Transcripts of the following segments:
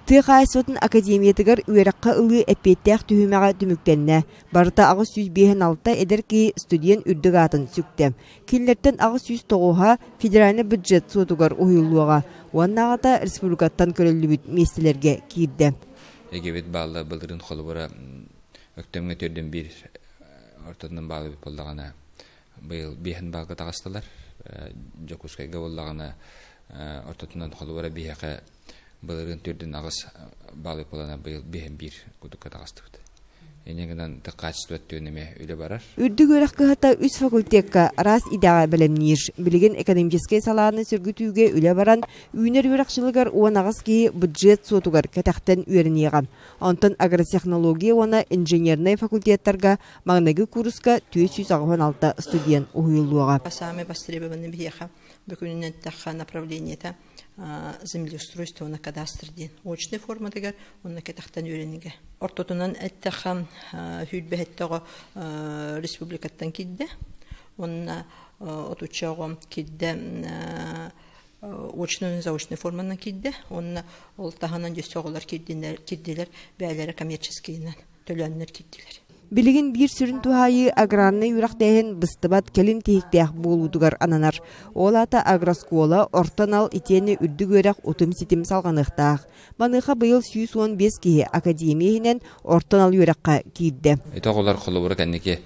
Тыхайсотын академиятыгар үераққа ылы әппеттәқ түхімеға түміктенне. Барыта ағыз 106 эдер ки студент үрдіг атын сүктем. Келлерттен ағыз 109 федеральный бюджет сотугар ойылуға. Уаннағата республикаттан көрілі бүт местелерге кирді. Егебет балла бұлдырын қолы бұра өктемге төрден бір ортадың балы бүт болдағана бұл бейхін балға тағыстылар. Жокускайға болдағана ортадың қолы бұра бейхақа Балырын түрден ағыз балы полана был бейін бір күдікке тағыстықты. Енегінен качество өттіөніме үлі барар. Үрдік өріқ кығыта үз факультетка раз идаға білімнер. Білген экономический саланы сүргітуге үлі баран, үйнер өріқшылығар оған ағыз кейі бюджет сотугар кәтәқтен үйерінеған. Онтын агротехнология оны инженерный факультеттарға мағнағы курсқа 396 студент ұйылуға. Самые востребованные веха бөкүнүнөн такка направлениета землеустройство на кадастр ден. Очный форма дегер, он на кетахтан үйренеге. Ортотунан әттәхам хүйтбәһеттәгә республикаттан кидде. Онна отучагы кидде очный заочный форманан кидде. Онна ол таханан дөсөгөлөр кидделер, бәйләре коммерческийнен төлөннөр кидделер. Билигин бир сүрін тухайы аграрны юрақтайын быстыбат келін тейіктәк болудугар ананар. Олата агроскола ортанал итені үрдік өрәк отым сетім салғанықтақ. Маныға бұйыл 115 кейі академиянен ортанал юраққа кейді. Итоғылар қолы бұры кәннеке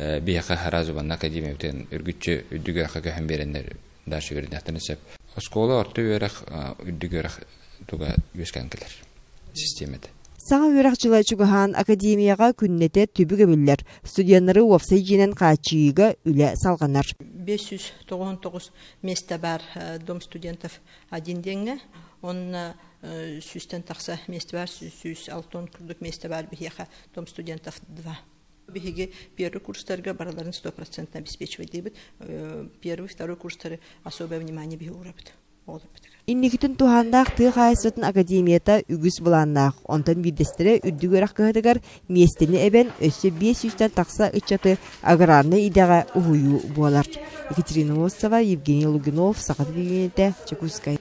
бейқі харазы бан академия өтен үргітші үрдік өрәққа көхін берендер даршы өріндәқтін өсіп. Скола орты өрәк үрдік өрәк туға өскәнкілер системеді. Саңа өрәқчылай чугахан академияға күннете түбігі білдер. Студенттары офсай женен қачыйыға үлі салғанар. 599 места бар дом студентов один денге. Он сүстен тақса места бар, 106 күрдік места бар бігеға дом студентов 2. Бігеге первый курстарға бараларын 100% обеспечивать дейбіт. Первый, второй курстары особое внимание бігі урабыд. Инникітін тухандақ тыға айсытын академията үгіз бұланнақ. Онтан бидестері үрдік өрәқ кығыдығар местені әбен өсі 500-тен тақса үтчаты аграрны идаға ұғыю болар. Екатерина Лосова, Евгений Лугинов, Сақат Бегенеті, Чекускай.